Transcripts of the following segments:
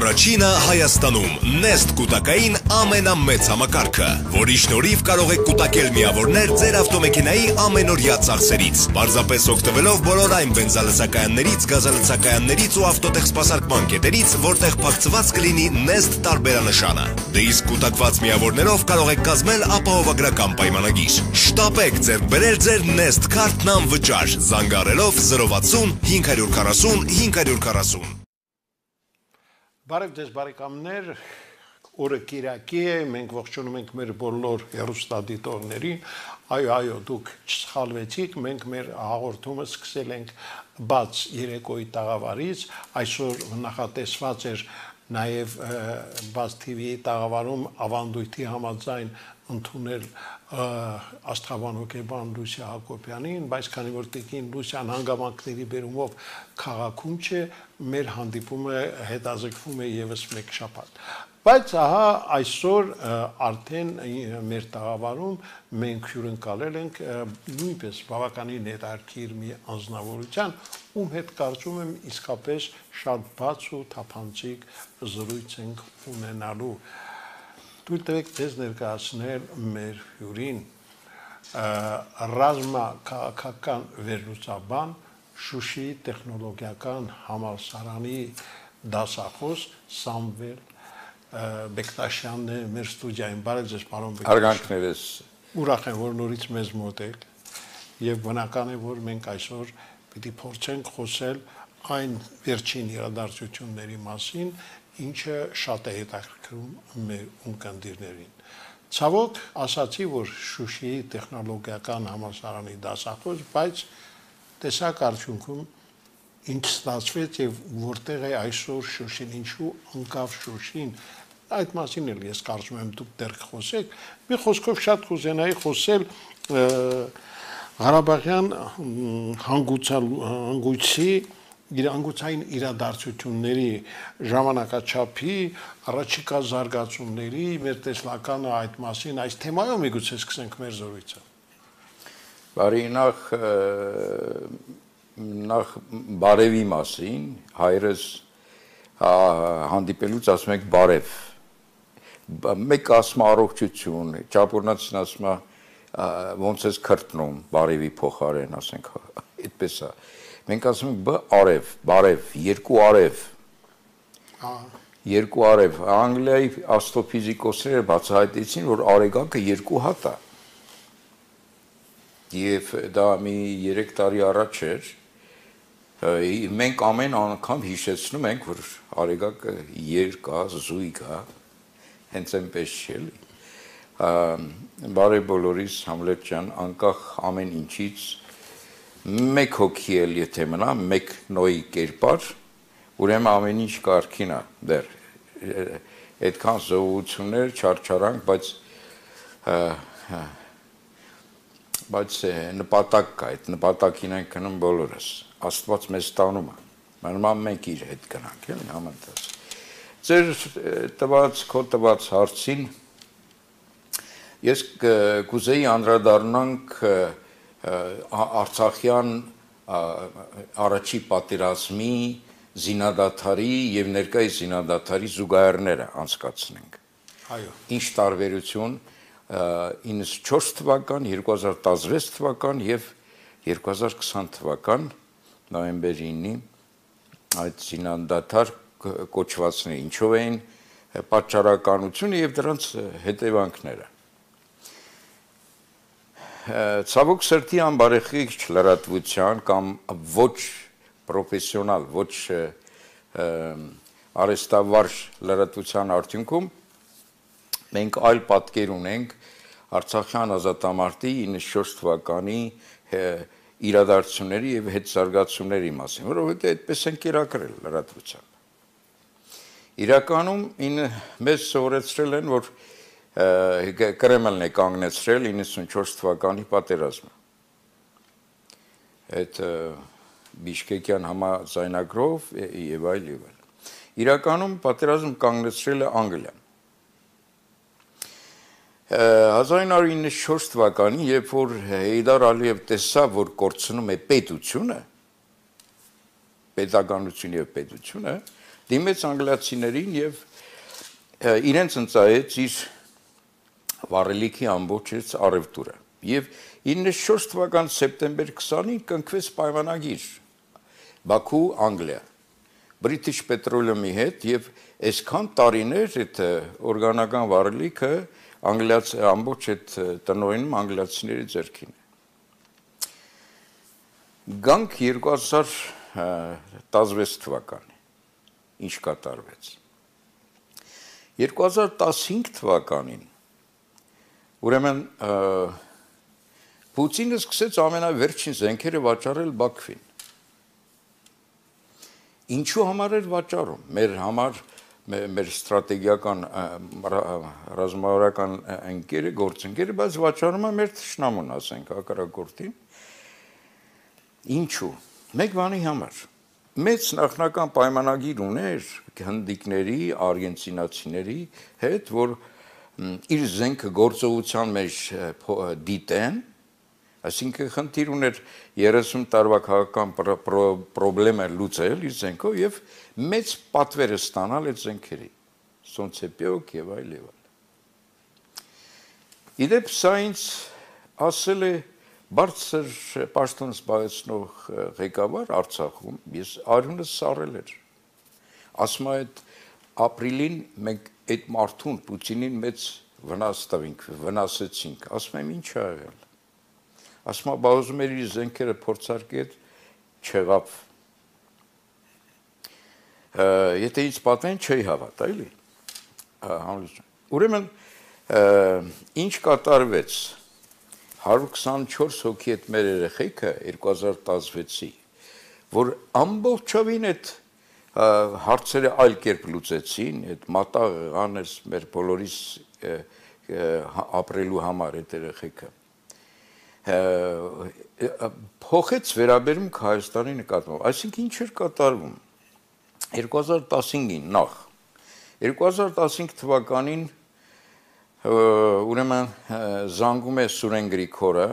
Առաջինը Հայաստանում Nest կուտակային ամենամեծ համակարգը, որի շնորհիվ կարող եք կուտակել միավորներ ձեր ավտոմեքենայի ամենօրյա ծախսերից, պարզապես օգտվելով բոլոր այն բենզալցակայաններից, գազալցակայաններից ու ավտոտեխսպասարկման կետերից, որտեղ փակցված կլինի Nest տարբերանշանը։ Դե իսկ կուտակված միավորներով կարող եք կազմել ապահովագրական պայմանագիր։ Շտապեք ձեռք բերել ձեր Nest քարտն անվճար, զանգահարելով 060 540 540։ Բարև ձեզ բարեկամներ, օրը կիրակի է, մենք ողջունում ենք մեր բոլոր հեռուստադիտողներին, այո, դուք չսխալվեցիք, մենք մեր հաղորդումը սկսել ենք բաց երեկոյի տաղավարից, այսօր նախատեսված էր նաև բաց TV-ի տաղավարում ավանդույթի համաձայն ընդունել աստղաբան հոգեբան Լուսիա Հակոբյանին, բայց քանի որ տիկին Լուսիան հանգամանքների բերումով քաղաքում չէ, մեր հանդիպումը հետաձգվում է եւս մեկ շաբաթ։ Բայց ահա այսօր արդեն մեր տաղավարում մենք հյուրընկալել ենք նույնպես բավականին հետաքրքիր մի անձնավորության, ում հետ կարծում եմ իսկապես շատ բաց ու թափանցիկ զրույց ենք ունենալու։ Թույլ տվեք ձեզ ներկայացնել մեր հյուրին ռազմաքաղաքական վերլուծաբան Շուշիի տեխնոլոգիական համալսարանի դասախոս Սամվել Բեկտաշյանն է մեր ստուդիայում։ Բարև ձեզ, պարոն Բեկտաշյան։ Հարգանքներս։ Ուրախ եմ, որ նորից մեզ մոտ եք եւ բնական է, որ մենք այսօր պիտի փորձենք խոսել այն վերջին իրադարձությունների մասին, ինչը շատ է հետաքրքրում մեր ունկնդիրներին։ Ցավոք, ասացի, որ Շուշիի տեխնոլոգիական համալսարանի դասախոս, բայց տեսակ արդյունքում ինչ ստացվեց եւ որտեղ է այսօր Շուշին, ինչու անկավ Շուշին, այդ մասին էլ ես կարծում եմ դուք դեռ խոսեք։ Մի խոսքով շատ կուզենայի խոսել Ղարաբաղյան հանգույցի անգուցային իրադարձությունների ժամանակաչափի առաջիկա զարգացումների մեր տեսլականը այդ մասին այս թեմայով միգուցե սկսենք մեր զրույցը։ Բարի նախ բարևի մասին, հայրս հանդիպելուց ասում եք բարև, մեկ ասում առողջություն, ճապորնացին ասում ոնց ես քրտնում, բարևի փոխարեն, ասենք, այդպես է, մենք ասում ենք արև, բարև, երկու արև, Անգլիայի աստրոֆիզիկոսները բացահայտեցին, որ արեգակը երկու հատ է, և դա մի 3 տարի առաջ էր, մենք ամեն անգամ հիշեցնում ենք, որ արեգակը երկա, զույգա, հենց այնպես չի էլի։ Բարև բոլորիս Համլետ ջան, անկախ ամեն ինչից մեկ հոգի էլ եթե մնա, մեկ նոյի կերպար, ուրեմն ամեն ինչ կարգին է դեռ, այդքան զոհություններ, չարչարանք, բայց նպատակ կա, այդ նպատակին ենք գնում բոլորս, Աստված մեզ տանում է, մանավանդ մենք իր հետ գնանք, էլի համընթաց։ Ձեր քո տված հարցին ես կուզեի անդրադառնանք Արցախյան առաջի պատերազմի զինադադարի եւ ներկայիս զինադադարի զուգահեռները անցկացնենք։ Այո։ Ինչ տարբերություն 94 թվական, 2016 թվական եւ 2020 թվական նոյեմբեր 9-ի այդ զինադադար կոչվածները ինչով էին պատճառականությունը եւ դրանց հետևանքները։ Ցավոք սրտի անբարեխիղճ լրատվության կամ ոչ պրոֆեսիոնալ, ոչ արհեստավարժ լրատվության արդյունքում մենք այլ պատկեր ունենք Արցախյան ազատամարտի 94 թվականի իրադարձությունների եւ հետզարգացումների մասին, որովհետեւ այդպես են կերակրել լրատվությամբ։ Իրականում մեզ սովորեցրել են, որ Կրեմլն է կանգնեցրել 94 թվականի պատերազմը։ Այդ Բիշկեկյան համաձայնագրով եւ այլ եւ այլ։ Իրականում պատերազմ կանգնեցրել է Անգլիան։ 1994 թվականին, երբ որ Հեյդար Ալիև տեսավ, որ կորցնում է պետությունը, պետականություն եւ պետությունը, դիմեց անգլիացիներին եւ իրենց ընծայեց իր վառելիքի ամբողջ առևտուրը եւ 94 թվականի սեպտեմբեր 20-ին կնքվեց պայմանագիր Բաքու Անգլիա British Petroleum-ի հետ եւ այսքան տարիներ այդ օրգանական վառելիքը ամբողջ այդ տնօրինում անգլիացիների ձեռքին է Գանք 2016 թվականի ինչ կատարվեց 2015 թվականին ուրեմն Պուտինը սկսեց ամենավերջին զենքերը վաճառել Բաքվին Ինչու համար էր վաճառում մեր համար մեր ստրատեգիական ռազմավարական ընկերը գործընկերը բայց վաճառում է մեր թշնամուն ասենք հակառակորդին Ինչու մեկ բանի համար մեծ նախնական պայմանագիր ուներ հնդիկների արգենտինացիների հետ որ իր զենքը գործողության մեջ դիտեն Այսինքն խնդիր ուներ 30 տարվա քաղաքական խնդիրը լուծել իր զենքով եւ մեծ պատվերը ստանալ այդ զենքերի Սոնցեպյոկ եւ այլ Իդեպ սա ինձ ասել է բարձր պաշտոն զբաղեցնող ղեկավար Արցախում ես արյունս սառել էր ասում այդ ապրիլին մենք այդ մարդուն Պուտինին մեծ վնաս տվինք վնասեցինք ասում եմ ինչ ա եղել Ասում եմ, բազում էր իր զենքերը փորձարկել չեղավ։ Եթե ինձ պատմեն, չի հավատա, էլի։ Ուրեմն, ինչ կատարվեց 124 հոգի այդ մեր երեխեքը 2016-ի, որ ամբողջովին այդ հարցերը այլ կերպ լուծեցին, այդ մատաղ եղանες մեր բոլորիս ապրելու համար այդ երեխեքը։ Փոխեց վերաբերմունք Հայաստանի նկատմամբ, այսինքն ինչ էր կատարվում 2015-ին նախ 2015 թվականին ուրեմն զանգում է Սուրեն Գրիգորը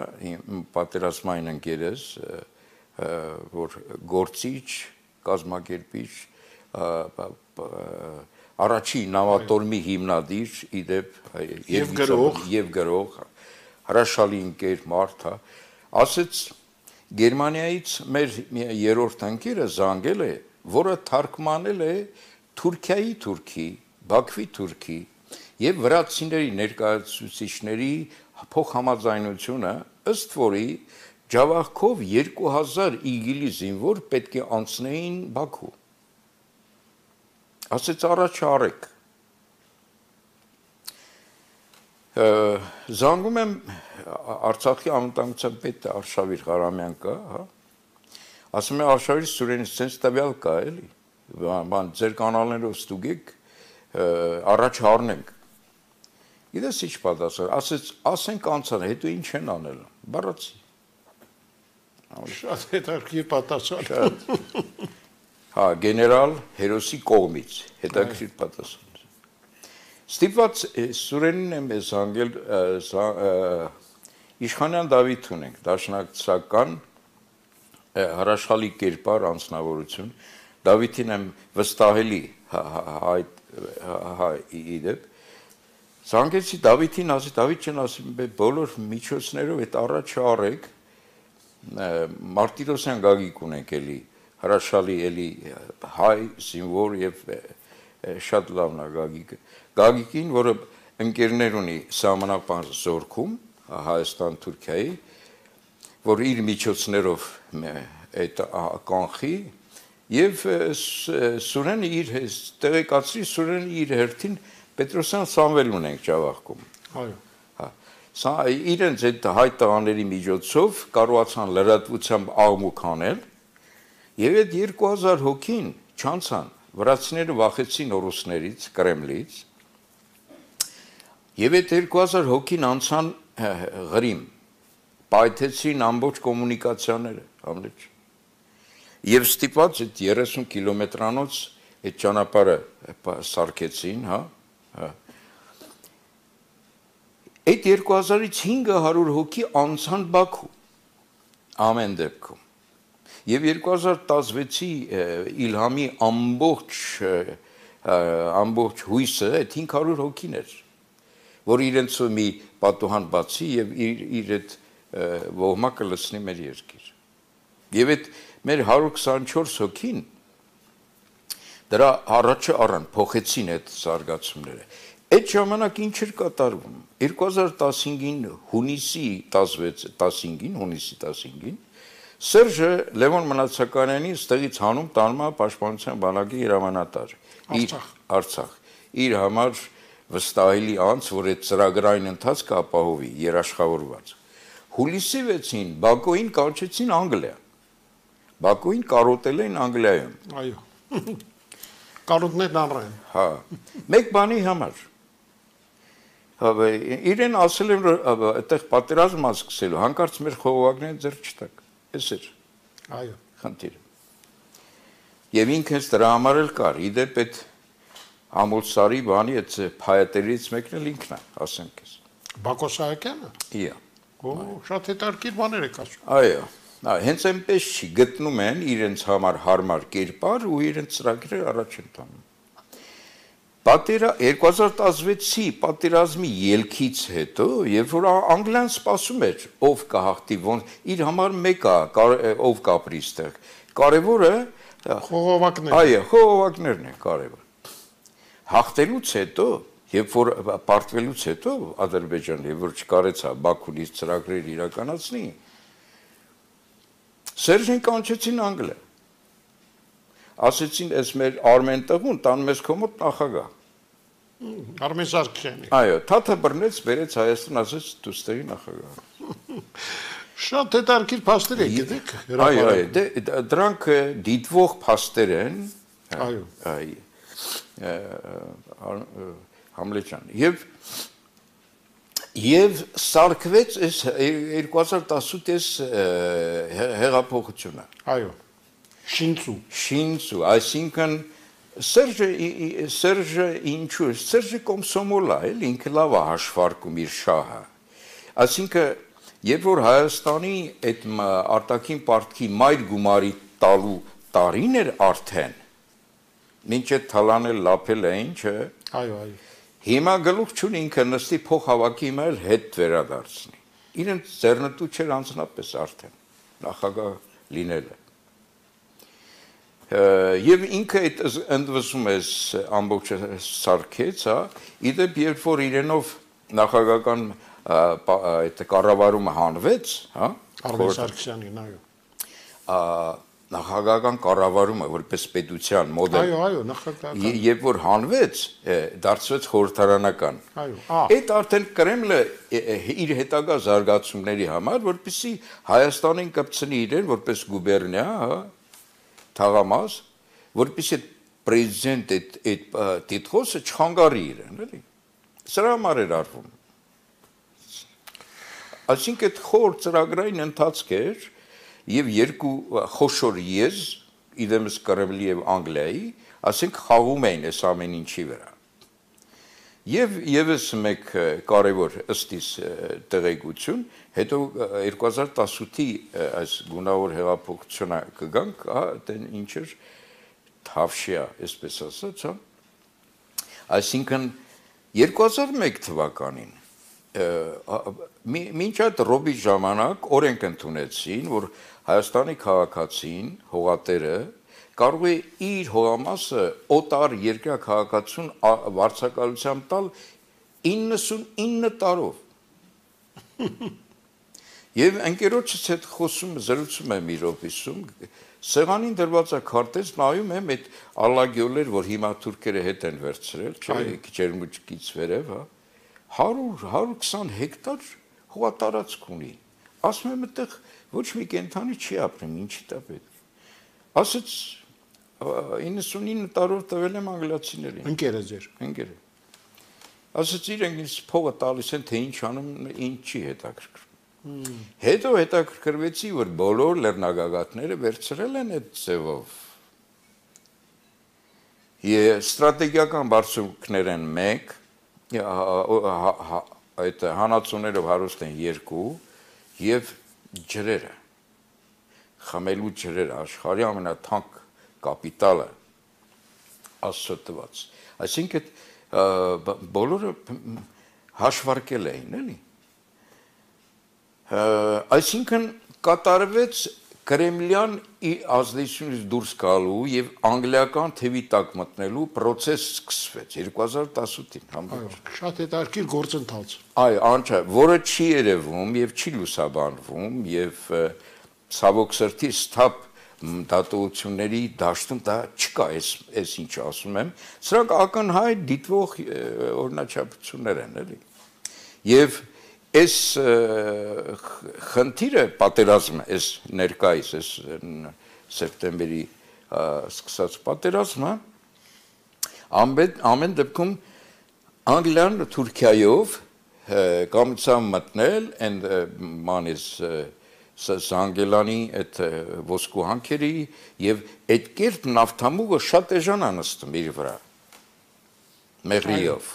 պատերազմային ընկերս որ գործիչ կազմակերպիչ առաջի նավատորմի հիմնադիր իդեպ եւ գրող հրաշալի ընկեր մարդ, ասեց Գերմանիայից մեր երրորդ ընկերը զանգել է, որը թարգմանել է Թուրքիայի թուրքի, Բաքվի թուրքի եւ վրացիների ներկայացուցիչների փոխհամաձայնությունը, ըստ որի Ջավախքով 2000 իգիլի զինվոր պետք է անցնեին Բաքու։ Ասեց առաջ արեք Զանգում եմ Արցախի անվտանգության պետ Արշավիր Ղարամյան կա, հա։ Ասում է Արշավիր Սուրենից sense տվյալ կա, էլի։ Բան ձեր կանալներով ստուգեք, առաջ առնենք։ Գիտես ինչ պատասխան, ասեց, ասենք անցան, հետո ինչ են անել։ Բառացի։ Շատ հետաքրքիր պատասխան։ Հա, գեներալ Հերոսի կողմից, հետաքրքիր պատասխան։ Ստիպված Սուրենին եմ զանգել Իշխանյան Դավիթ ունենք, դաշնակցական հրաշալի կերպար անձնավորություն, Դավիթին եմ վստահելի իդեպ, զանգեցի Դավիթին, ասի Դավիթ ջան, ասի բոլոր միջոցներով այդ առաջ արեք, Մարտիրոսյան Գագիկ ունենք էլի, հրաշալի էլի հայ զինվոր եւ շատ լավն է Գագիկը Գագիկին, որը ընկերներ ունի սահմանապահ զորքում Հայաստան Թուրքիայի, որ իր միջոցներով այդ կանխի եւ Սուրենը իր տեղեկացրի Սուրենը իր հերթին Պետրոսյան Սամվել ունենք Ջավախքում։ Այո։ Հա։ Սա իրենց այդ հայ տղաների միջոցով կարողացան լրատվությամբ աղմուկ անել եւ այդ 2000 հոգին չանցան վրացիները վախեցին ռուսներից, Կրեմլից եւ այդ 2000 հոգին անցան Ղրիմ, պայթեցին ամբողջ կոմունիկացիաները, համլեջ։ Եվ ստիպված այդ 30 կիլոմետրանոց այդ ճանապարհը սարքեցին, հա։ Այդ 2000-ից 500 հոգի անցան Բաքու, ամեն դեպքում։ Եվ 2016-ի Իլհամի ամբողջ հույսը այդ 500 հոգին էր, որ իրենց մի պատուհան բացի եւ իր այդ ոհմակը լցնի մեր երկիր։ Եվ այդ մեր 124 հոգին դրա առաջը առան, փոխեցին այդ զարգացումները։ Այդ ժամանակ ինչ էր կատարվում։ 2015-ին հունիսի 15-ին Սերժը Լևոն Մնացականյանի ստեղից հանում տանում է պաշտպանության բանակի հրամանատար Արցախ։ Իր համար վստահելի անց, որ այդ ծրագրային ընթացքը ապահովի երաշխավորված։ Հուլիսի 6-ին Բաքոին կանչեցին Անգլիա։ Բաքոին կարոտել են Անգլիայում։ Այո։ Կարոտներն առան։ Հա։ Մեկ բանի համար։ Իրեն ասել են, որ այդտեղ պատերազմ սկսելու, հանկարծ մեր խողովակները ձեռք չտակ։ Էս էր։ Այո։ Խնդիրը։ Եվ ինքս դրա համար էլ կար, իդեպ այդ Ամուլսարի բանի այդ փայատերից մեկն էլ ինքն է, ասեմ քեզ։ Բակո Սահակյանը։ Իա։ Օ, շատ հետաքրքիր բաներ եք ասում։ Այո։ Հենց այնպես չի, գտնում են իրենց համար հարմար կերպար ու իրենց ծրագրերը առաջ են տանում։ 2016-ի պատերազմի ելքից հետո, երբ որ Անգլիան սպասում էր, ով կհաղթի, իր համար մեկը ով կապրի այստեղ։ Կարևորը խողովակներ։ Այո, խողովակներն են կարևոր։ Հաղթելուց հետո, երբ որ պարտվելուց հետո Ադրբեջանը, երբ որ չկարեցա Բաքուից ծրագրեր իրականացնի, Սերժին կանչեցին Անգլիա։ Ասեցին, «Էս մեր Արմեն տղուն տանում ես քո մոտ նախագահ»։ Արմեն Սարգսյանի։ Այո, թաթը բռնեց, բերեց Հայաստան, ասեց դու ստեղի նախագահ։ Շատ հետաքրքիր փաստեր եք, գիտեք։ Այո, դրանք դիտվող փաստեր են։ Այո։ Համլեջան։ Եվ սարքվեց այս 2018 հեղափոխությունը։ Այո։ Շինծու, այսինքն Սերժը ինչու, Սերժը կոմսոմոլ է, ինքը լավ է հաշվարկում իր շահը։ Այսինքն, երբ որ Հայաստանի այդ արտաքին պարտքի մայր գումարի տալու տարին էր արդեն, մինչ այդ թալանել լափել է ինչը, այո։ Հիմա գլուխ չունի ինքը նստի փոխհավաքի հիմա էլ հետ վերադարձնի։ Իրենց ձեռնտու չէր անձնապես արդեն նախագահ լինելը։ Եվ ինքը այդ ընդվզում էս ամբողջը սարքեց, հա, իդեպ երբ որ իրենով նախագահական այդ կառավարումը հանվեց, հա, Արմեն Սարգսյանին, այո։ Նախագահական կառավարումը որպես պետության մոդել։ Այո, նախագահական։ Երբ որ հանվեց, դարձվեց խորհրդարանական։ Այո։ Այդ արդեն Կրեմլը իր հետագա զարգացումների համար, որպեսզի Հայաստանին կպցնի իրեն որպես գուբերնիա, հա, թաղամաս, որպեսզի այդ պրեզիդենտ այդ տիտղոսը չխանգարի իրեն, էլի։ Սրա համար էր արվում։ Այսինքն այդ խոր ծրագրային ընթացք էր, եւ երկու խոշոր եզ, իդեմս Կրեմլի եւ Անգլիայի, ասենք խաղում էին այս ամեն ինչի վրա։ Եվ եւս մեկ կարևոր ըստիս տեղեկություն, հետո 2018-ի այս գունավոր հեղափոխությունը կգանք, հա, դեն ինչ էր Թավշյա, այսպես ասած, հա։ Այսինքն 2001 թվականին մինչ այդ ռոբի ժամանակ օրենք ընդունեցին, որ Հայաստանի քաղաքացին, հողատերը կարող է իր հողամասը օտար երկրյա քաղաքացուն վարձակալությամբ տալ 99 տարով։ Եվ ընկերոջս հետ զրուցում եմ իր օֆիսում, սեղանին դրված է քարտեզ, նայում եմ այդ ալագյոլեր, որ հիմա թուրքերը հետ են վերցրել, չէ, Ջերմուջկից վերև, հա, 100-120 հեկտար հողատարածք ունի։ Ասում եմ, այդտեղ ոչ մի կենդանի չի ապրում, ինչի տա պետք։ Ասեց 99 տարով տվել եմ անգլիացիներին։ Ընկերը ձեր։ Ընկերը։ Ասեց իրենք ինձ փողը տալիս են, թե ինչ անում, ինչի հետաքրքրում։ Հետո հետաքրքրվեցի, որ բոլոր լեռնագագաթները վերցրել են այդ ձևով։ Ստրատեգիական բարձունքներ են 1, այդ հանածուներով հարուստ են 2 եւ ջրերը խմելու ջրեր աշխարհի ամենաթանկ կապիտալը Աստծո տված։ Այսինքն բոլորը հաշվարկել էին, էլի։ Այսինքն կատարվեց Կրեմլյան ազդեցությունից դուրս գալու եւ անգլիական թևի տակ մտնելու process սկսվեց 2018-ին համբերջ։ Շատ հետաքրքիր գործընթաց։ Այո, անչափ, որը չի երևում եւ չի լուսաբանվում եւ ցավոք սրտի սթափ դատողությունների դաշտում դա չկա, այս ինչ ասում եմ, սրանք ակնհայտ դիտվող օրինաչափություններ են, էլի։ Եվ այս խնդիրը պատերազմը, այս ներկայիս, այս սեպտեմբերի սկսած պատերազմը ամեն դեպքում Անգլիան Թուրքիայով կամեցավ մտնել and man is Սանգելանի այդ ոսկու հանքերի եւ այդ կերպ նավթամուղը շատ էժան անստում իր վրա մեղրիով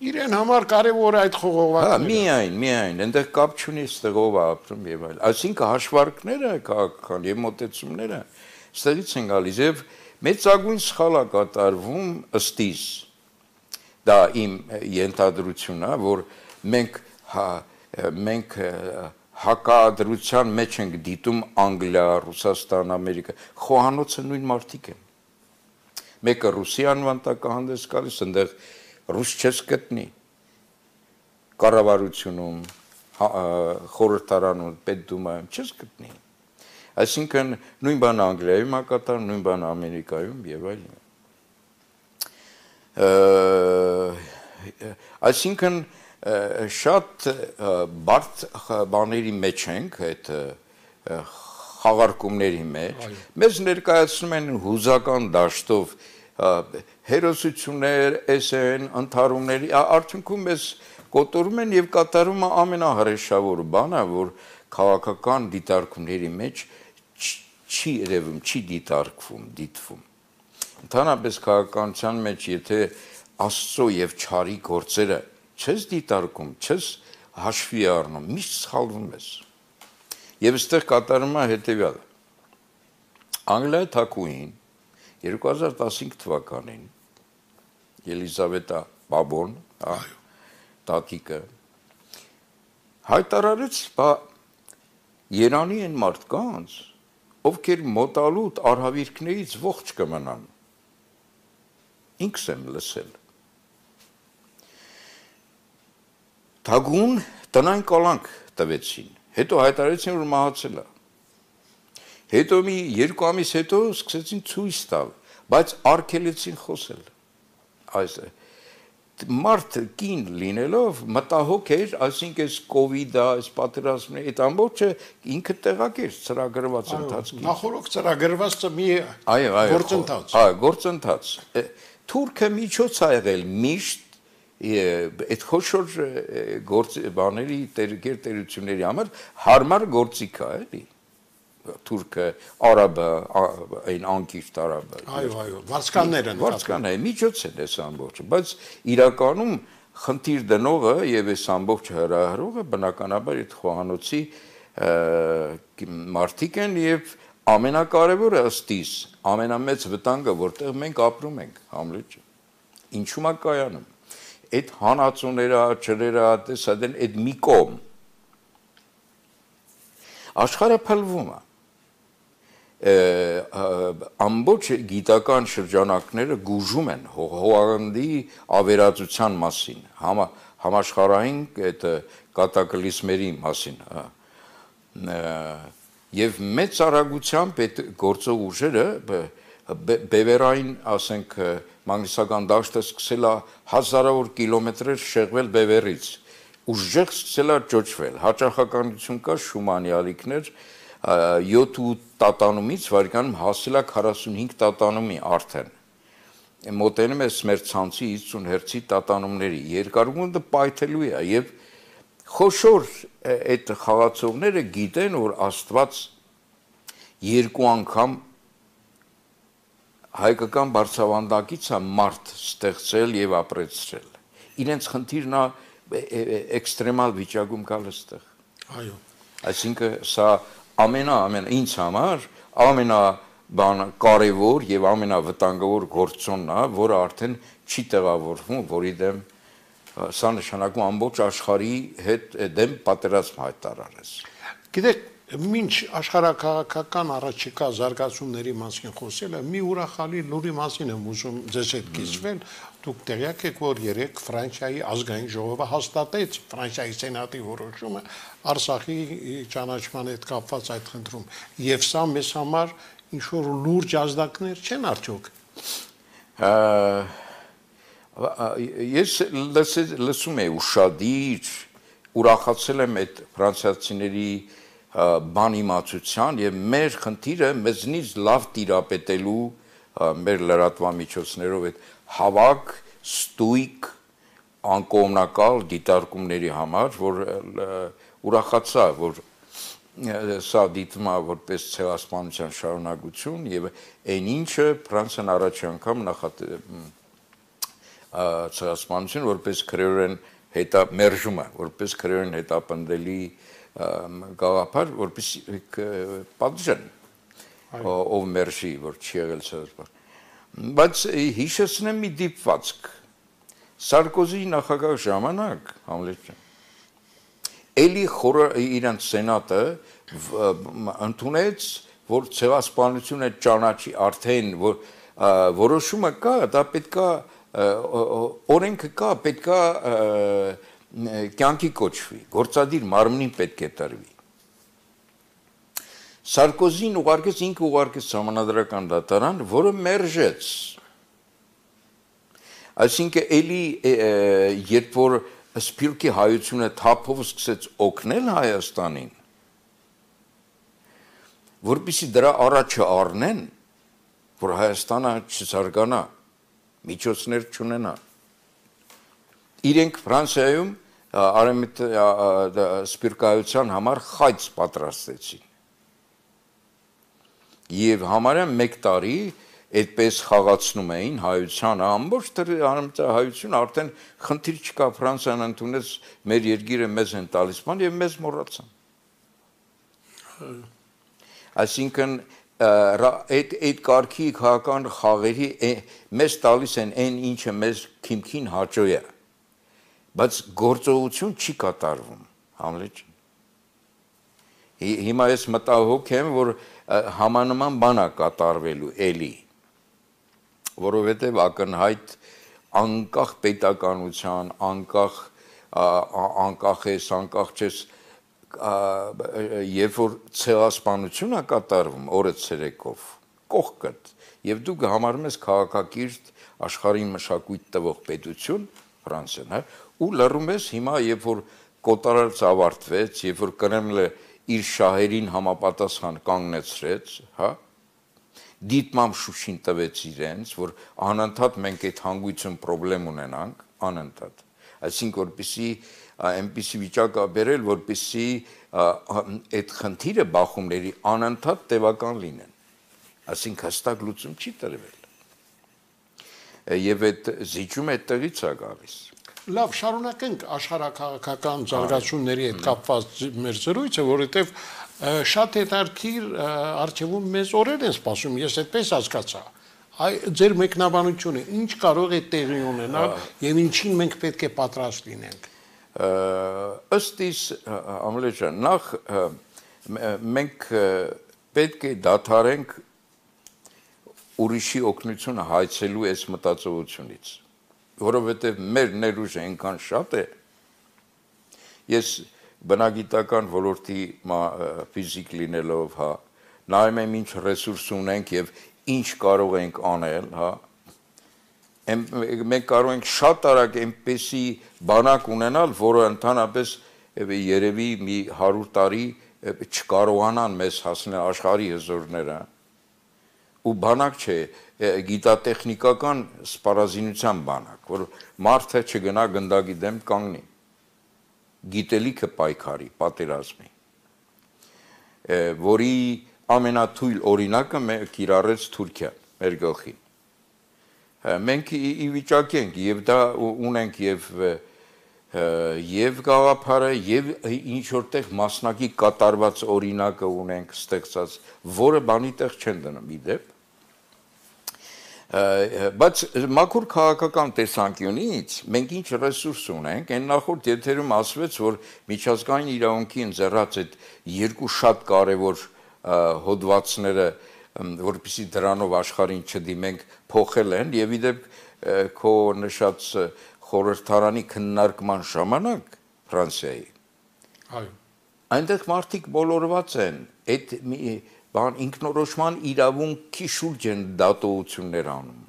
Իրեն համար կարևոր այդ խողովակները։ Միայն, այնտեղ կապ չունի ստեղով ապրում եւ այլ։ Այսինքն հաշվարկները քաղաքական եւ մոտեցումները ստեղից են գալիս եւ մեծագույն սխալ է կատարվում ըստիս։ Դա իմ ենթադրությունն է, որ մենք հակադրության մեջ ենք դիտում Անգլիա, Ռուսաստան, Ամերիկա, խոհանոցը նույն մարդիկ են։ Մեկը Ռուսիան վանտակահանդես գալիս, այնտեղ ռուս չես գտնի կառավարությունում, խորհրդարանում, պետդումայում չես գտնի։ Այսինքն նույն բանը Անգլիայում է կատարվում, նույն բանը Ամերիկայում եւ այլն։ Այսինքն շատ բարդ բաների մեջ ենք այդ խաղարկումների մեջ։ Մեզ ներկայացնում են հուզական դաշտով հերոսություններ, էսեն, ընթարումների, արդյունքում մեզ կոտորում են եւ կատարում ամենահրեշավոր բանը, որ քաղաքական դիտարկումների մեջ չի երևում, չի դիտարկվում, դիտվում։ Ընդհանրապես քաղաքականության մեջ եթե Աստծո եւ չարի գործերը չես դիտարկում, չես հաշվի առնում, միշտ սխալվում ես։ Եվ այստեղ կատարում է հետեւյալը։ Անգլիայի թագուհին 2015 թվականին Ելիզավետա Բաբոն, տատիկը հայտարարեց, Երանի են մարդկանց, ովքեր մոտալուտ արհավիրքներից ողջ կմնան։ Ինքս եմ լսել։ Թագուն տնային կալանք տվեցին, հետո հայտարարեցին, որ մահացել է։ Հետո մի 2 ամիս հետո սկսեցին ցույց տալ, բայց արգելեցին խոսել։ Այս մարդ կին լինելով մտահոգ էր, այսինքն այս կովիդը, այս պատերազմը, այդ ամբողջը ինքը տեղակ էր ծրագրված ընթացքի։ Նախորդ ծրագրված մի գործընթաց։ Այո, գործընթաց։ Թուրքը միջոց է եղել միշտ այդ խոշոր բաների տերությունների համար հարմար գործիք է, էլի։ Թուրքը, արաբը, այն անկիրթ արաբը։ Այո, վարձկաններ են։ Վարձկաններ, միջոց են այս ամբողջը, բայց իրականում խնդիր դնողը եւ այս ամբողջ հրահրողը բնականաբար այդ խոհանոցի մարդիկ են եւ ամենակարևորը ըստիս ամենամեծ վտանգը, որտեղ մենք ապրում ենք, Համլետ։ Ինչու՞ է կայանում։ Այդ հանածուները, ջրերը, տեսադեն այդ մի կողմ աշխարհը փլվում է։ Ամբողջ գիտական շրջանակները գուժում են հողագնդի ավերածության մասին, համաշխարհային այդ կատակլիզմերի մասին, եւ մեծ արագությամբ այդ գործող ուժերը բևերային, ասենք, մագնիսական դաշտը սկսել է հազարավոր կիլոմետրեր շեղվել բևերից, ուժեղ սկսել է ճոճվել, հաճախականություն կա Շումանի ալիքներ 7 տատանումից վարկյանում հասել է 45 տատանումի արդեն։ Մոտենում է մեր ցանցի 50 հերցի տատանումների, երկարությունը պայթելու է եւ խոշոր այդ խաղացողները գիտեն, որ Աստված 2 անգամ հայկական բարձրավանդակից է մարդ ստեղծել եւ ապրեցրել։ Իրենց խնդիրն է էքստրեմալ վիճակում գալ այստեղ։ Այո։ Այսինքն սա ամենա ինձ համար կարևոր եւ ամենավտանգավոր գործոնն է, որը արդեն չի տեղավորվում, որի դեմ սա նշանակում ամբողջ աշխարհի հետ դեմ պատերազմ հայտարարես։ Գիտեք, մինչ աշխարհակաղակական առաջիկա զարգացումների մասին խոսելը, մի ուրախալի լուրի մասին եմ ուզում ձեզ հետ կիսվել։ Դուք տեղյակ եք, որ երեք Ֆրանսիայի ազգային ժողովը հաստատեց Ֆրանսիայի սենատի որոշումը Արցախի ճանաչման հետ կապված այդ խնդրում, եւ սա մեզ համար ինչ-որ լուրջ ազդակներ չեն արդյոք։ Ես լսում եմ ուշադիր, ուրախացել եմ այդ ֆրանսիացիների բան իմացության եւ մեր խնդիրը մեզնից լավ տիրապետելու մեր լրատվամիջոցներով այդ հավաք, ստույգ, անկողմնակալ դիտարկումների համար, որ ուրախացա, որ սա դիտվում է որպես ցեղասպանության շարունակություն եւ այն ինչը Ֆրանսիան առաջ անգամ ցեղասպանություն որպես քրեորեն մերժում է, որպես քրեորեն հետապնդելի գաղափար, որպես պատժեն, ով մերժի, որ չի եղել ցեղասպան։ Բայց հիշեցնեմ մի դիպվածք։ Սարկոզի նախագահ ժամանակ, Համլետ ջան, էլի խորը իրանց սենատը ընդունեց, որ ցեղասպանությունը ճանաչի արդեն, որ որոշումը կա, դա պետքա օրենքը կա, պետքա կյանքի կոչվի, գործադիր մարմնին պետք է տրվի։ Սարկոզին ինքը ուղարկեց սահմանադրական դատարան, որը մերժեց։ Այսինքն էլի երբ որ Սփյուռքի հայությունը թափով սկսեց օգնել Հայաստանին, որպեսզի դրա առաջը առնեն, որ Հայաստանը չզարգանա, միջոցներ չունենա։ Իրենք Ֆրանսիայում սփյուռքահայության համար խայծ պատրաստեցին։ Եվ համարյա 1 տարի այդպես խաղացնում էին հայությանը, ամբողջ հայությունը արդեն խնդիր չկա, Ֆրանսիան ընդունեց մեր երկիրը մեզ են տալիս բան եւ մեզ մոռացան։ Այսինքն այդ կարգի քաղաքական խաղերի մեզ տալիս են այն ինչը մեզ քիմքին հաճո է, բայց գործողություն չի կատարվում, Համլետ ջան։ Հիմա ես մտահոգ եմ, որ համանման բան է կատարվելու էլի, որովհետև ակնհայտ անկախ պետականության, անկախ ես, անկախ չես, երբ որ ցեղասպանություն է կատարվում օրը ցերեկով, կողքդ, եւ դու համարում ես քաղաքակիրթ աշխարհին մշակույթ տվող պետություն, Ֆրանսիան, ու լռում ես հիմա, երբ որ կոտարած ավարտվեց, երբ որ Կրեմլը իր շահերին համապատասխան կանգնեցրեց, հա, դիտմամբ Շուշին տվեց իրենց, որ անընդհատ մենք այդ հանգույցում պրոբլեմ ունենանք, անընդհատ։ Այսինքն որպեսի այնպիսի վիճակ բերել, որպեսի այդ խնդիրը բախումների անընդհատ տևական լինեն։ Այսինքն հստակ լուծում չի տրվել։ Եվ այդ զիջումը այդտեղից է գալիս։ Լավ, շարունակենք աշխարհակաղակական զարգացումների հետ կապված մեր զրույցը, որովհետև շատ հետաքրքիր արխիվում մեզ օրեր են սպասում, ես այդպես հասկացա։ Ձեր մեկնաբանությունը ինչ կարող է տեղի ունենալ եւ ինչին մենք պետք է պատրաստ լինենք։ Ըստ իս, Ամլետ ջան, նախ մենք պետք է դադարենք ուրիշի օգնությունը հայցելու այս մտածողությունից, որովհետև մեր ներուժը այնքան շատ է, ես բնագիտական ոլորտի ֆիզիկ լինելով, հա, նայում եմ ինչ ռեսուրս ունենք եւ ինչ կարող ենք անել, հա, մենք կարող ենք շատ արագ այնպեսի բանակ ունենալ, որը ընդհանրապես երևի մի 100 տարի չկարողանան մեզ հասնել աշխարհի հզորները, ու բանակ չէ, գիտատեխնիկական սպառազինության բանակ, որ մարդը չգնա գնդակի դեմ կանգնի, գիտելիքը պայքարի, պատերազմի, որի ամենաթույլ օրինակը կիրառեց Թուրքիան, մեր գլխին։ Մենք ի վիճակի ենք, եւ դա ունենք եւ եւ գաղափարը եւ ինչ որտեղ մասնակի կատարված օրինակը ունենք ստեղծած, որը բանի տեղ չեն դնում իդեպ։ Բայց մաքուր քաղաքական տեսանկյունից մենք ինչ ռեսուրս ունենք, այն նախորդ եթերում ասվեց, որ միջազգային իրավունքի ընձեռած այդ երկու շատ կարևոր հոդվածները, որպեսզի դրանով աշխարհին չդիմենք, փոխել են եւ իդեպ քո նշած խորհրդարանի քննարկման ժամանակ Ֆրանսիայի։ Այո։ Այնտեղ մարդիկ բոլորված են, այդ բան ինքնորոշման իրավունքի շուրջ են դատողություններ անում։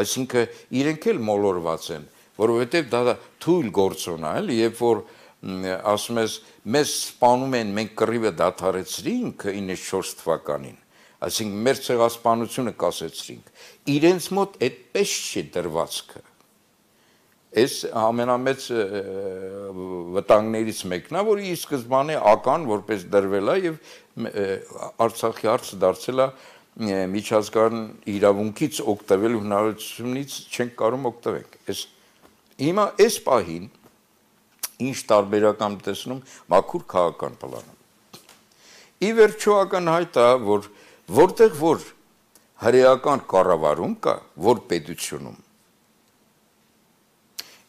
Այսինքն իրենք էլ մոլորված են, որովհետև դա թույլ գործոն է, երբ որ ասում ես մեզ սպանում են, մենք կռիվը դադարեցրինք 94 թվականին, այսինքն մեր ցեղասպանությունը կասեցրինք, իրենց մոտ այդպես չի դրվածքը։ Այս ամենամեծ վտանգներից մեկն է, որ ի սկզբանե ական որպես դրվել է եւ Արցախի հարցը դարձել է միջազգային իրավունքից օգտվելու հնարավորությունից չենք կարող օգտվենք։ Հիմա այս պահին ինչ տարբերական տեսնում մաքուր քաղաքական պլանում։ Ի վերջո ակնհայտ է, որ որտեղ որ հրեական կառավարում կա, որ պետությունում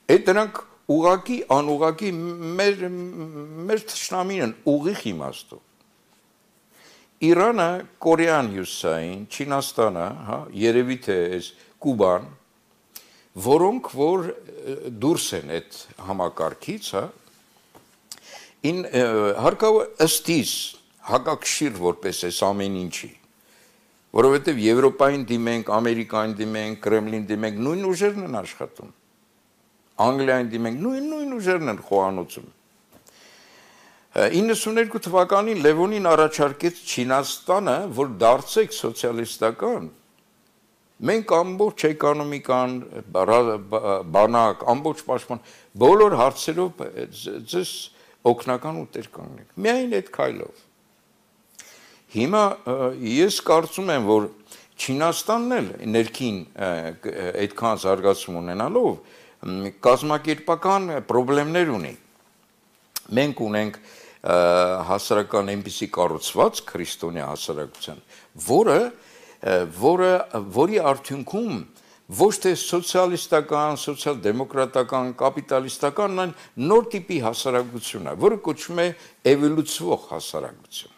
այդ դրանք ուղակի անուղակի մեր թշնամին են ուղիղ իմաստով։ Իրանը, Կորեան հյուսային, Չինաստանը, հա, երևի թե այս Կուբան, որոնք որ դուրս են այդ համակարգից, հա, հարկավոր ըստիս հակակշիռ որպես այս ամեն ինչի, որովհետև Եվրոպային դիմենք, Ամերիկային դիմենք, Կրեմլին դիմենք, նույն ուժերն են աշխատում։ Անգլիային դիմենք, նույն ուժերն են խոհանոցում։ 92 թվականին Լևոնին առաջարկեց Չինաստանը, որ դարձեք սոցիալիստական։ Մենք ամբողջ էկոնոմիկան, բանակ, ամբողջ պաշտպան, բոլոր հարցերով ձեզ օգնական ուտեր կանգնենք։ Միայն այդ քայլով։ Հիմա ես կարծում եմ, որ Չինաստանն էլ ներքին այդքան զարգացում ունենալով կազմակերպական խնդիրներ ունի։ Մենք ունենք հասարակական այնպիսի կառուցված քրիստոնյա հասարակության, որի արդյունքում ոչ թե սոցիալիստական, սոցիալ-դեմոկրատական, կապիտալիստական, այլ նոր տիպի հասարակություն է, որը կոչվում է էվոլյուցիոն հասարակություն։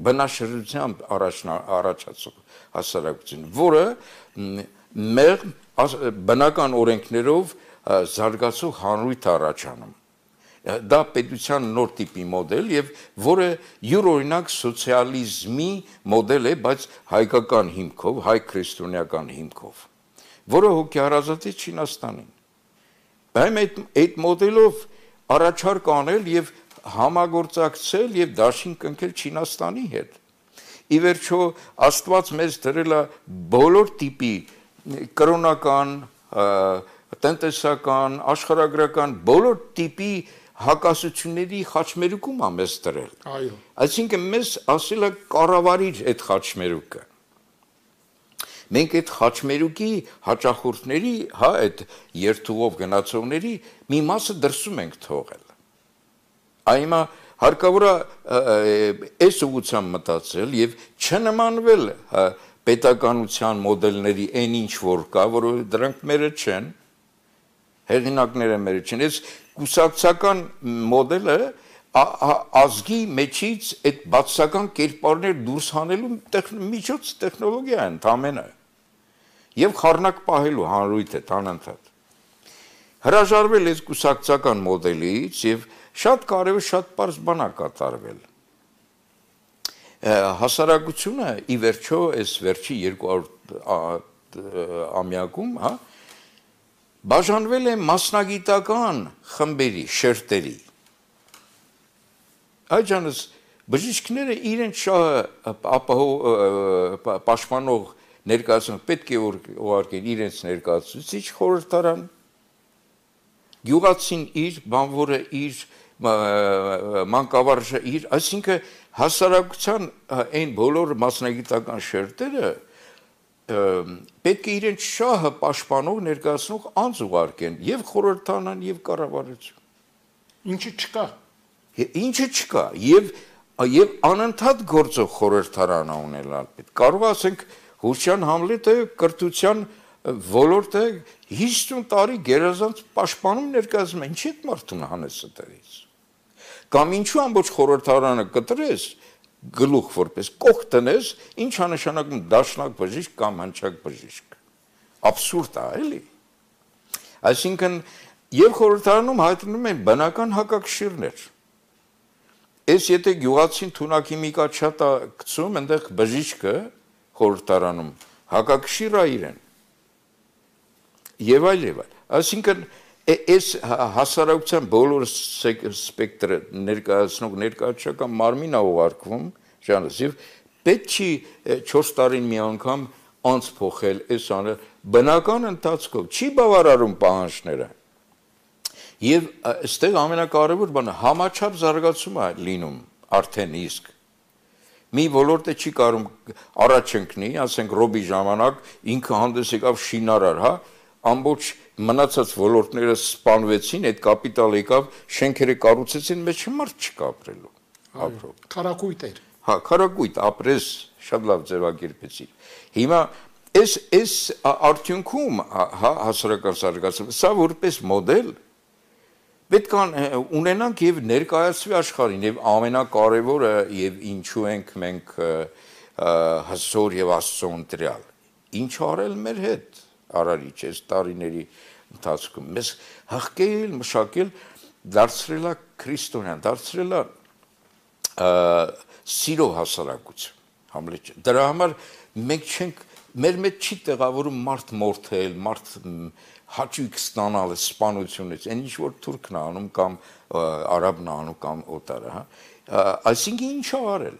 Բնաշրջությամբ առաջացող հասարակություն, որը մեր բնական օրենքներով զարգացող հանրույթ առաջանում։ Դա պետության նոր տիպի մոդել եւ որը յուրօրինակ սոցիալիզմի մոդել է, բայց հայկական հիմքով, հայ քրիստոնեական հիմքով, որը հոգեհարազատ է Չինաստանին։ Բայց այդ մոդելով առաջարկ անել եւ համագործակցել եւ դաշին կնքել Չինաստանի հետ։ Ի վերջո Աստված մեզ դրել է բոլոր տիպի կրոնական, տնտեսական, աշխարհագրական բոլոր տիպի հակասությունների խաչմերուկում ամես դրել։ Այո։ Այսինքն մեզ ասել է կառավարիր այդ խաչմերուկը։ Մենք այդ խաչմերուկի հաճախորդների, հա, այդ երթուղով գնացողների մի մասը դրսում ենք թողել։ Այմա հարկավոր է այս ուղղությամբ մտածել եւ չնմանվել պետականության մոդելների այն ինչ որ կա, որը դրանք մերը չեն, հեղինակները մերը չեն։ Այս կուսակցական մոդելը ազգի մեջից այդ բացասական կերպարներ դուրս հանելու միջոց տեխնոլոգիա է ընդամենը եւ խառնակ պահելու հանրույթը տանանթատ։ Հրաժարվել այս կուսակցական մոդելից եւ շատ կարևոր շատ պարզ բան է կատարվել։ Հասարակությունը ի վերջո այս վերջի 200 ամյակում, հա, բաժանվել է մասնագիտական խմբերի, շերտերի։ Այջանս բժիշկները իրենց շահը պաշտպանող ներկայացնում պետք է ուղարկեն իրենց ներկայացուցիչ խորհրդարան, գյուղացին իր, բանվորը իր, մանկավարժը իր, այսինքն հասարակության այն բոլոր մասնագիտական շերտերը պետք է իրենց շահը պաշտպանող ներկայացնող անձ ուղարկեն եւ խորհրդանան եւ կառավարություն։ Ինչի չկա։ Ինչը չկա եւ անընդհատ գործող խորհրդարան ունենալ պետք։ Կարող ասենք Հուշյան Համլետը կրթության ոլորտը 50 տարի գերազանց պաշտպանում ներկայացնում, ինչի՞ այդ մարդուն հանես այդտեղից։ Կամ ինչու ամբողջ խորհրդարանը կտրես գլուխ որպես կող տնես, ինչ է նշանակում դաշնակ բժիշկ կամ հնչակ բժիշկ։ Աբսուրդ է, էլի։ Այսինքն եւ խորհրդարանում հայտնում են բնական հակակշիռներ։ Այս եթե գյուղացին թունակի մի կաչատա գցում, այնտեղ բժիշկը խորհրդարանում հակակշիռ է իրեն։ Եվ այլ։ Այսինքն այս հասարակության բոլոր սպեկտրը ներկայացնող ներկայացական մարմին է ուղարկվում ժանրս եւ պետք չի 4 տարին մի անգամ անց փոխել այս անը բնական ընթացքով չի բավարարում պահանջները եւ այստեղ ամենակարևոր բանը համաչափ զարգացում է լինում արդեն իսկ մի ոլորտը չի կարող առաջ ընկնի ասենք ռոբի ժամանակ ինքը հանդես եկավ շինարար հա ամբողջ մնացած ոլորտները սպանվեցին, այդ կապիտալ եկավ, շենքերը կառուցեցին, մեջ մարդ չկա ապրելու, ապրող։ Քարակույտ էր։ Հա, քարակույտ, ապրես, շատ լավ ձևակերպեցիր։ Հիմա այս արդյունքում, հա, հասարակական զարգացումը, սա որպես մոդել պետք է ունենանք եւ ներկայացվի աշխարհին եւ ամենակարևորը եւ ինչու ենք մենք հզոր եւ Աստծո ընտրյալ։ Ինչ արել մեր հետ արարիչ այս տարիների ընթացքում մեզ հղկել, մշակել, դարձրել է քրիստոնյան, դարձրել է սիրո հասարակություն, Համլետ։ Դրա համար մենք չենք մեր մեջ չի տեղավորում մարդ մորթել, մարդ հաճույք ստանալ սպանությունից, այն ինչ որ թուրքն է անում կամ արաբն է անում կամ օտարը, հա։ Այսինքն ինչ է արել։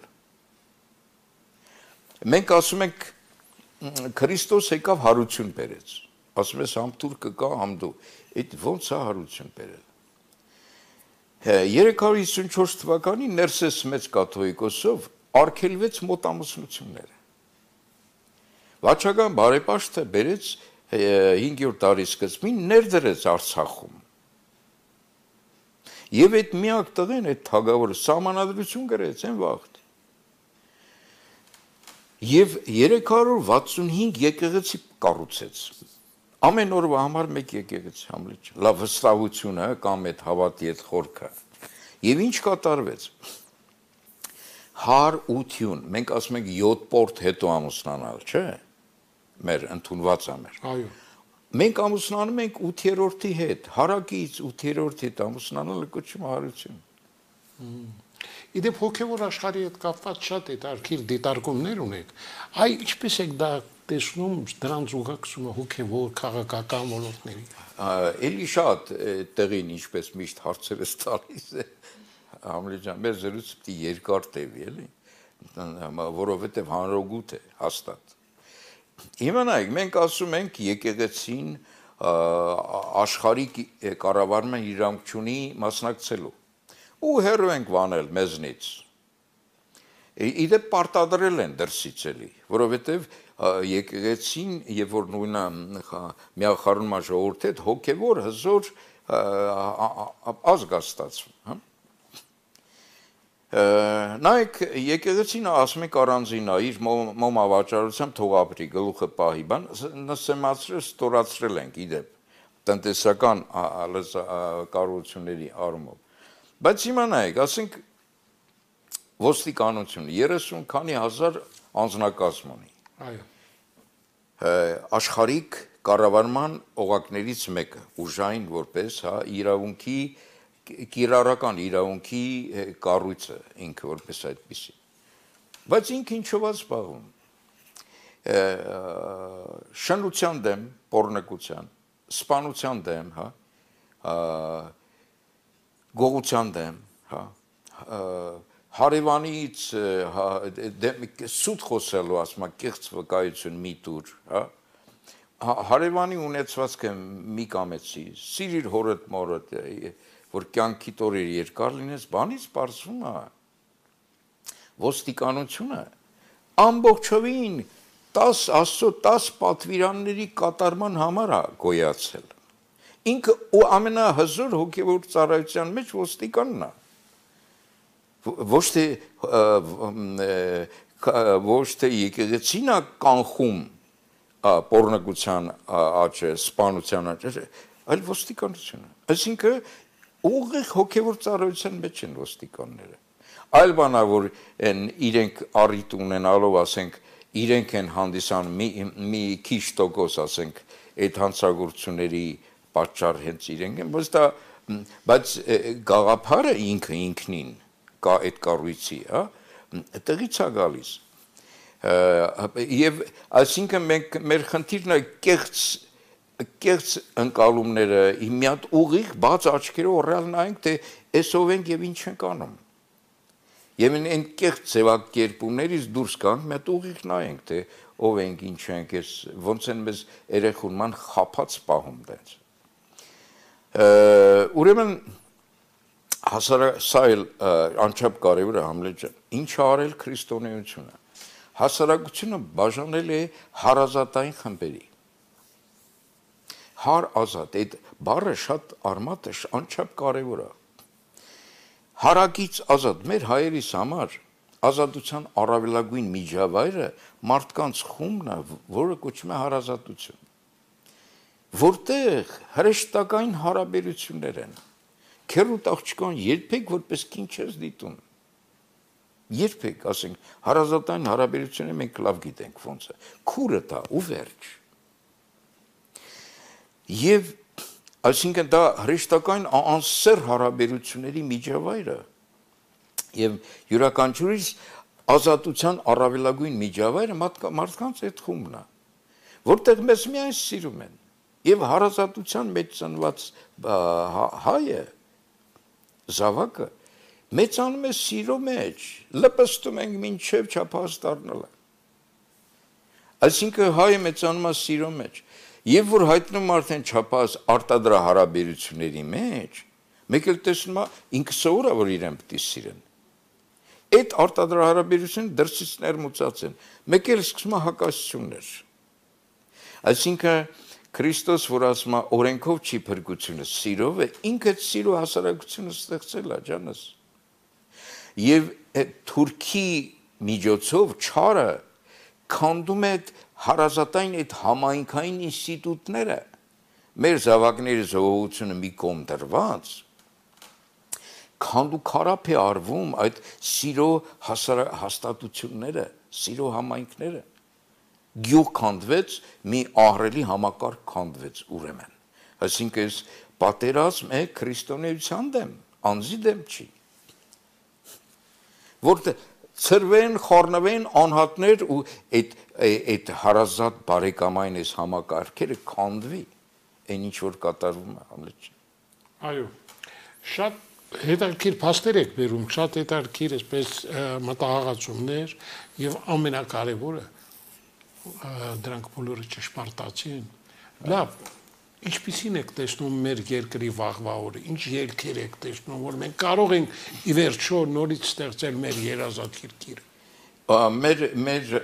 Մենք ասում ենք Քրիստոս եկավ հարություն բերեց։ Ասում ես համ թուրքը կա, համ դու։ Այդ ո՞նց է հարություն բերել։ 354 թվականին Ներսես մեծ կաթողիկոսով արգելվեց մոտամուսնությունները։ Վաչական բարեպաշտը բերեց 5-րդ դարի սկզբին ներդրեց Արցախում։ Եվ այդ միակ տղեն այդ թագավորը սահմանադրություն գրեց այն վաղտ։ Եվ 365 եկեղեցի կառուցեց։ Ամեն օրվա համար մեկ եկեղեցի Համլետ։ Լավ վստահությունը կամ այդ հավատի այդ խորքը։ Եվ ինչ կատարվեց։ Հարություն, մենք ասում ենք 7 պորտ հետո ամուսնանալ, չէ՞։ Մեր ընդունված է մեր։ Այո։ Մենք ամուսնանում ենք 8-րդի հետ, հարակից 8-րդի հետ ամուսնանալը կոչվում հարություն։ Իդեպ հոգևոր աշխարհի հետ կապված շատ հետաքրքիր դիտարկումներ ունեք։ Այ ինչպես եք դա տեսնում դրանց ուղղակցումը հոգևոր քաղաքական ոլորտների։ Էլի շատ տեղին ինչպես միշտ հարցերս տալիս է Համլետ ջան, մեր զրույցը պիտի երկար տևի, էլի, որովհետև հանրօգուտ է հաստատ։ Հիմա նայեք, մենք ասում ենք եկեղեցին աշխարհի կառավարման իրավունք ունի մասնակցելու։ Ու հեռու ենք վանել մեզնից։ Իդեպ պարտադրել են դրսից էլի, որովհետև եկեղեցին, երբ որ նույնը միախառնման ժողովուրդ հետ հոգևոր հզոր ազգ է ստացվում, հա։ Նայեք, եկեղեցին ասում եք առանձին է, իր մոմավաճառությամբ թող ապրի, գլուխը պահի, բան, նսեմացրել, ստորացրել ենք իդեպ, տնտեսական կառույցների առումով։ Բայց հիմա նայեք, ասենք ոստիկանություն 30 քանի հազար անձնակազմ ունի։ Այո։ Աշխարհիկ կառավարման օղակներից մեկը, ուժային որպես, հա, իրավունքի կիրառական իրավունքի կառույցը ինքը որպես այդպիսի։ Բայց ինքը ինչով է զբաղվում։ Շնության դեմ, պոռնկության, սպանության դեմ, հա, գողության դեմ, հա, հարևանից սուտ խոսելու, ասում եմ, կեղծ վկայություն մի տուր, հա, հարևանի ունեցվածքը մի կամեցի, սիրիր հորդ մորդ, որ կյանքի տորեր երկար լինես, բանից պարզվում է ոստիկանությունը ամբողջովին Աստծո 10 պատվիրանների կատարման համար է գոյացել։ Ինքը ու ամենահզոր հոգևոր ծառայության մեջ ոստիկանն է։ Ոչ թե եկեղեցին է կանխում պոռնոգության աճը, սպանության աճը, այլ ոստիկանությունը։ Այսինքն ուղիղ հոգևոր ծառայության մեջ են ոստիկանները։ Այլ բան է, որ իրենք առիթ ունենալով, ասենք, իրենք են հանդիսանում մի քիչ տոկոս, ասենք, այդ հանցագործությունների պատճառ հենց իրենք են, բայց գաղափարը ինքը ինքնին կա այդ կառույցի, տեղից է գալիս։ Եվ այսինքն մենք մեր խնդիրն է կեղծ ընկալումները մի հատ ուղիղ բաց աչքերով ռեալ նայենք, թե այս ով ենք եւ ինչ ենք անում։ Եվ այն կեղծ ձևակերպումներից դուրս գանք, մի հատ ուղիղ նայենք, թե ով ենք, ինչ ենք, ոնց են մեզ երեխունման խափած պահում դες։ Ուրեմն սա էլ անչափ կարևոր է Համլետ ջան, ինչ է արել քրիստոնեությունը։ Հասարակությունը բաժանել է հարազատային խմբերի։ Հարազատ, այդ բառը շատ արմատ է, անչափ կարևոր է։ Հարակից ազատ, մեր հայերիս համար ազատության առավելագույն միջավայրը մարդկանց խումբն է, որը կոչվում է հարազատություն։ Որտեղ հրեշտակային հարաբերություններ են։ Քերուտ աղջկան երբեք որպես քինչ չես դիտում։ Երբեք, ասենք, հարազատային հարաբերությունները մենք լավ գիտենք ոնց է։ Քուրը դա ու վերջ։ Եվ այսինքն դա հրեշտակային անսեր հարաբերությունների միջավայրը եւ յուրաքանչյուրիս ազատության առավելագույն միջավայրը մարդկանց այդ խումբն է, որտեղ մեզ միայն սիրում են եւ հարազատության մեջ ծնված հայը զավակը մեծանում է սիրո մեջ, լպստում ենք մինչև չափահաս դառնալը։ Այսինքն հայը մեծանում է սիրո մեջ։ Եվ որ հայտնում արդեն չափահաս արտադրա հարաբերությունների մեջ, մեկ էլ տեսնում է ինքը սովոր է, որ իրեն պետք է սիրեն։ Այդ արտադրա հարաբերությունը դրսից ներմուծած են, մեկ էլ սկսում է հակասություններ։ Այսինքն Քրիստոս, որ ասում է օրենքով չի փրկությունը, սիրով է, ինքը սիրո հասարակությունը ստեղծել է, ջանս։ Եվ Թուրքի միջոցով չարը քանդում է հարազատային այդ համայնքային ինստիտուտները, մեր զավակների զոհությունը մի կողմ դրված, քանդ ու քարափ է արվում այդ սիրո հաստատությունները, սիրո համայնքները։ Գյուղ քանդվեց, մի ահռելի համակարգ քանդվեց ուրեմն։ Այսինքն այս պատերազմ է քրիստոնեության դեմ, անձի դեմ չի։ Որտեղ ծրվեն, խառնվեն անհատներ ու այդ հարազատ բարեկամային այս համակարգերը քանդվի, այն ինչ որ կատարվում է Համլետ ջան։ Այո, շատ հետաքրքիր փաստեր եք բերում, շատ հետաքրքիր այսպես մտահղացումներ եւ ամենակարևորը դրանք բոլորը ճշմարտացի են։ Լավ, ինչպիսին եք տեսնում մեր երկրի վաղվա օրը, ինչ ելքեր եք տեսնում, որ մենք կարող ենք ի վերջո նորից ստեղծել մեր երազած երկիրը։ Մեր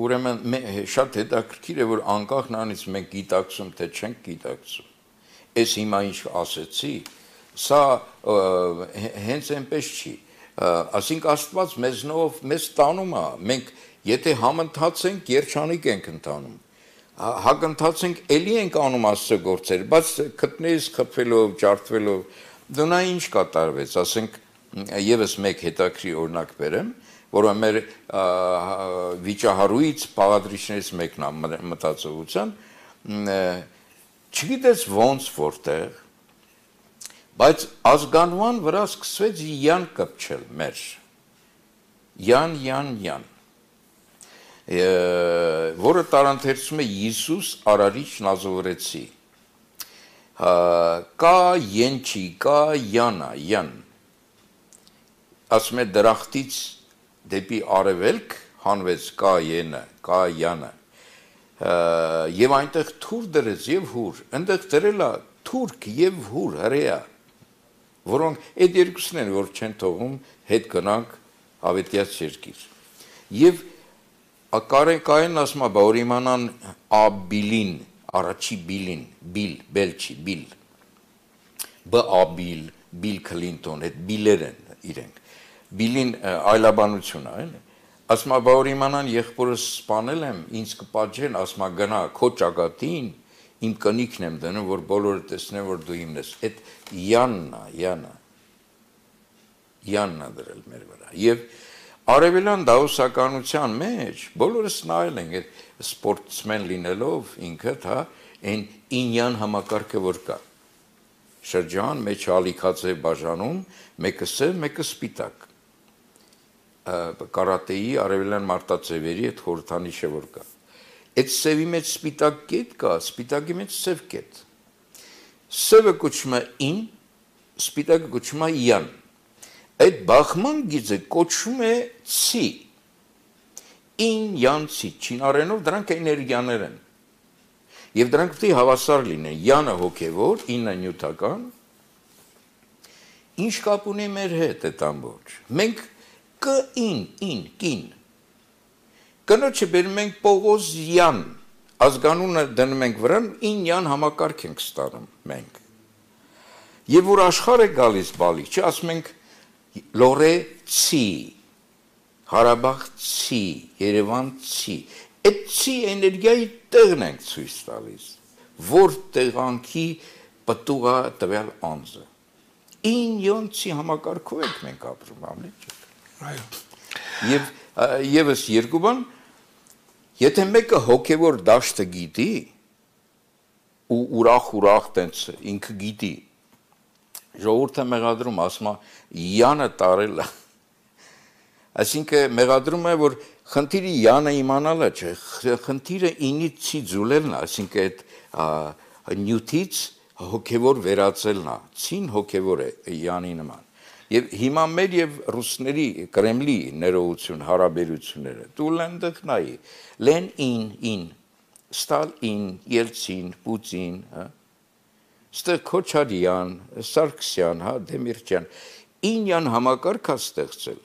ուրեմն շատ հետաքրքիր է, որ անկախ նրանից մենք գիտակցում, թե չենք գիտակցում։ Այս հիմա ինչ ասեցի, սա հենց այնպես չի։ Ասինքն Աստված մեզնով մեզ տանում է, մենք եթե համընթաց ենք, երջանիկ ենք ընթանում։ Հակընթաց ենք, էլի ենք անում Աստծո գործեր, բայց քտներից խփվելով, ջարդվելով, դու նա ինչ կատարվեց, ասենք եւս մեկ հետաքրքիր օրինակ բերեմ, որը մեր վիճահարույց բաղադրիչներից մեկն է մտածողության, չգիտես ոնց որտեղ, բայց ազգանման վրա սկսվեց յան կպչել մեր, յան, որը տարանթերցում է Հիսուս Արարիչ Նազովրեցի, կա յենչի, կա յան, ասում է դրախտից դեպի արևելք հանվեց կա յանը, եւ այնտեղ թուր դրեց եւ հուր, այնտեղ դրել է թուրք եւ հուր հրեա, որոնք այդ երկուսն են, որ չեն թողում հետ գնանք ավետյաց երկիր։ Եվ Կային ասма բաուրիմանան աբիլին, առաջի բիլին, բելչի, բիլ, բաբիլ, բիլ Քլինտոն, այդ բիլեր են իրենք, բիլին այլաբանություն է, ասма բաուրիմանան եղբորս սպանել եմ, ինձ կպատժեն, ասma գնա, քո ճակատին, իմ կնիքն եմ դնում, որ բոլորը տեսնեն, որ դու իմն ես, այդ յաննա դրել մեր վրա, և արևելյան դասականության մեջ բոլորս նայել են այդ սպորտսմեն լինելով ինքդ, հա, այն ինյան համակարգը որ կա։ Շրջան մեջ ալիքաձև բաժանում, մեկը սև, մեկը սպիտակ։ Կարատեի արևելյան մարտաձևերի այդ խորհրդանիշը որ կա։ Այդ սևի մեջ սպիտակ կետ կա, սպիտակի մեջ սև կետ։ Սևը կոչվում է ին, սպիտակը կոչվում է յան։ Այդ բախման գիծը կոչվում է ցի, ին յան ցի, չինարենով դրանք էներգիաներ են, և դրանք պետք է հավասար լինեն, յանը հոգևոր, ինը նյութական, ինչ կապ ունի մեր հետ այդ ամբողջ, մենք կին, կնոջը բերում ենք Պողոզյան, ազգանունը դնում ենք վրան, ին յան համակարգ ենք ստանում մենք, և որ աշխարհ է գալիս բալիկ, չի ասում ենք Լորեցի, Հարաբաղցի, Երևանցի, այդ ցի էներգիայի տեղն ենք ցույց տալիս, որ տեղանքի պտուղա տվյալ անձը։ Ինյոնցի համակարգով ենք մենք ապրում, ամլիք չեք։ Եվ ևս երկու բան, եթե մեկը հոգևոր դաշտը գիտի, ու ուրախ տենց ինքը գիտի, ժողովուրդը մեղադրում, ասում է յանը տարել է, այսինքն մեղադրում է, որ խնդիրը յանը իմանալը չէ, խնդիրը ինից չի ձուլելն է, այսինքն այդ նյութից հոգևոր վերածելն է, ցին հոգևոր է յանի նման, և հիմա մեր և ռուսների Կրեմլի ներողություն հարաբերությունները, դու լենդық նայի, լեն ին, Ստալին, Ելցին, Պուտին, ստեղ Քոչարյան, Սարգսյան, Դեմիրճյան, ինյան համակարգ է ստեղծել,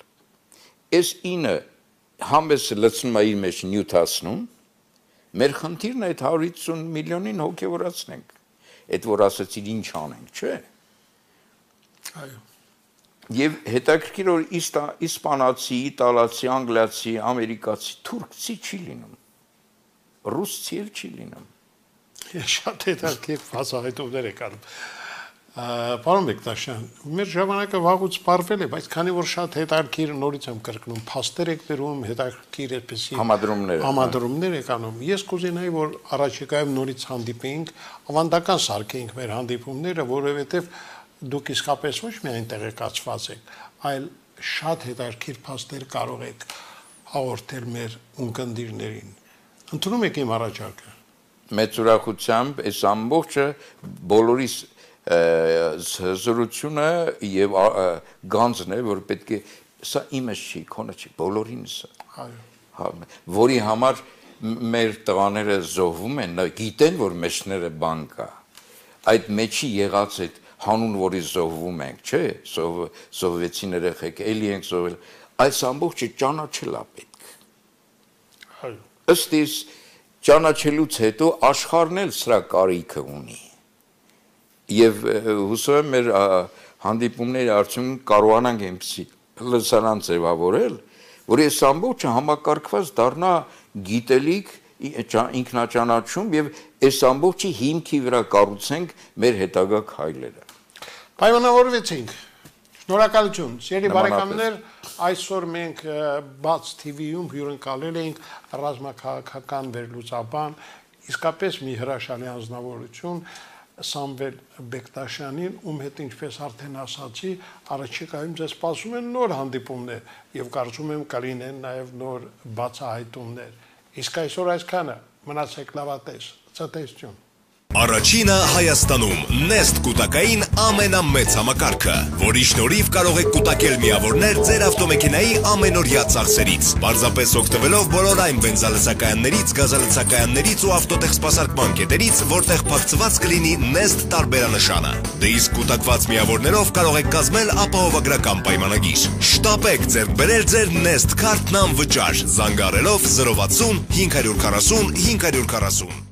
այս ինը համես լցնում է իր մեջ նյութացնում, մեր խնդիրն այդ 150 միլիոնին հոգևորացնենք, այդ որ ասացիր ինչ անենք, չէ։ Եվ հետաքրքիր որ իսպանացի, իտալացի, անգլիացի, ամերիկացի, թուրքցի չի լինում, ռուսցի էլ չի լինում։ Շատ հետաքրքիր բացահայտումներ եք անում։ Պարոն Բեկտաշյան, մեր ժամանակը վաղուց սպառվել է, բայց քանի որ շատ հետաքրքիր նորից եմ կրկնում, փաստեր եք դրում, հետաքրքիր այդպեսի համադրումներ եք անում։ Ես կուզենայի, որ առաջիկայում նորից հանդիպեինք, ավանդական սարքեինք մեր հանդիպումները, որովհետև դուք իսկապես ոչ միայն տեղեկացված եք, այլ շատ հետաքրքիր փաստեր կարող եք հաղորդել մեր ունկնդիրներին։ Ընդունում եք իմ առաջարկը։ Մեծ ուրախությամբ այս ամբողջը բոլորիս զրությունը և գանձն է, որ պետք է, սա իմս չի, քոնը չի, բոլորինս է, որի համար մեր տղաները զոհվում են, գիտեն, որ մեջները բան կա, այդ մեջի եղած այդ հանուն, որի զոհվում ենք, չէ, զոհվեցին երեխեք, էլի ենք զոհվել, այս ամբողջը ճանաչել է պետք։ Ըստ իս ճանաչելուց հետո աշխարհն էլ սրա կարիքը ունի։ Եվ հուսով եմ մեր հանդիպումների արդյունքում կարողանանք այնպիսի լսարան ձևավորել, որ այս ամբողջը համակարգված դառնա գիտելիք, ինքնաճանաչում եւ այս ամբողջի հիմքի վրա կառուցենք մեր հետագա քայլերը։ Պայմանավորվեցինք։ Շնորհակալություն։ Սիրելի բարեկամներ, այսօր մենք Բաց TV-ում հյուրընկալել էինք ռազմաքաղաքական վերլուծաբան, իսկապես մի հրաշալի անձնավորություն Սամվել Բեկտաշյանին, ում հետ ինչպես արդեն ասացի, առաջիկայում ձեզ սպասում են նոր հանդիպումներ եւ կարծում եմ կլինեն նաեւ նոր բացահայտումներ։ Իսկ այսօր այսքանը, մնացեք լավատես, ցտեսություն։ Առաջինը Հայաստանում Nest կուտակային ամենամեծ համակարգը, որի շնորհիվ կարող եք կուտակել միավորներ ձեր ավտոմեքենայի ամենօրյա ծախսերից, պարզապես օգտվելով բոլոր այն բենզալցակայաններից, գազալցակայաններից ու ավտոտեխ սպասարկման կետերից, որտեղ փակցված կլինի Nest տարբերանշանը։ Դե իսկ կուտակված միավորներով կարող եք կազմել ապահովագրական պայմանագիր։ Շտապեք ձեռք բերել ձեր Nest քարտն անվճար, զանգահարելով 060 540 540։